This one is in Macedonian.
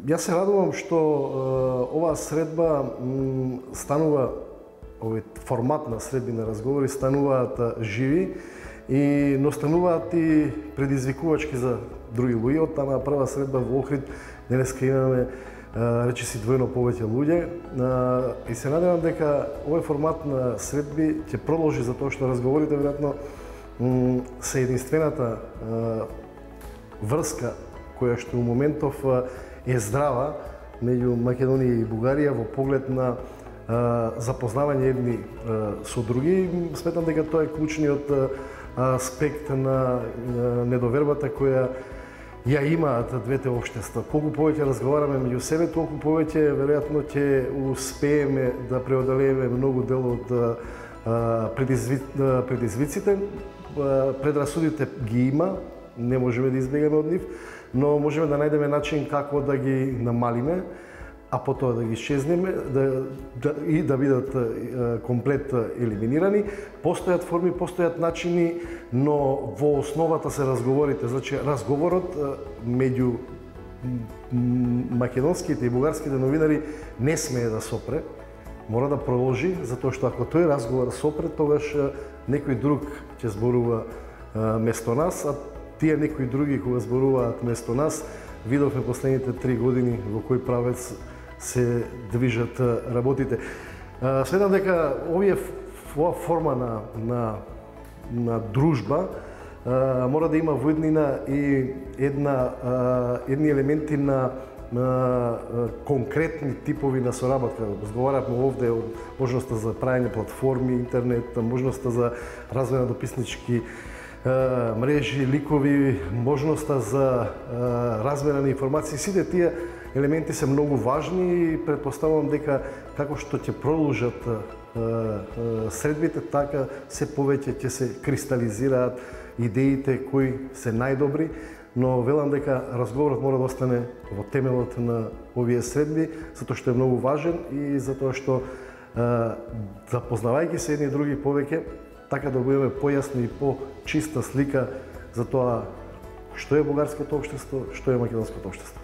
Јас се радувам што оваа средба станува, овој формат на средби на разговори стануваат живи но стануваат и предизвикувачки за други луѓе. Од таа прва средба во Охрид денеска имаме речиси двојно повеќе луѓе и се надевам дека овој формат на средби ќе продолжи затоа што разговорите веројатно се единствената врска која што у моментов е здрава меѓу Македонија и Бугарија во поглед на запознавање едни со други. Сметам дека тоа е клучниот аспект на недовербата која ја имаат двете општества. Колку повеќе разговараме меѓу себе, толку повеќе веројатно ќе успееме да преодолееме многу дел од предизвиците. Предрасудите ги има, не можеме да избегаме од нив, но можеме да најдеме начин како да ги намалиме, а потоа да ги исчезнеме и да бидат комплет елиминирани. Постојат форми, постојат начини, но во основата се разговорите. Значи, разговорот меѓу македонските и бугарските новинари не смее да сопре, мора да продолжи, затоа што ако тој разговор сопре, тогаш некој друг ќе зборува место нас, а тие некои други кога зборуваат место нас, видовме последните 3 години во кој правец се движат работите. Сметам дека оваа форма на дружба мора да има во еднина и едни елементи на конкретни типови на соработка. Разговаравме овде од можноста за правење платформи, интернет, можноста за развој на дописнички мрежи, ликови, можноста за размена на информации. Сите тие елементи се многу важни и претпоставувам дека како што ќе продолжат средбите, така се повеќе ќе се кристализираат идеите кои се најдобри, но велам дека разговорот мора да остане во темелот на овие средби, затоа што е многу важен и затоа што запознавајќи се едни и други повеќе, така да бидеме појасни и по-чиста слика за тоа што е бугарското општество, што е македонското општество.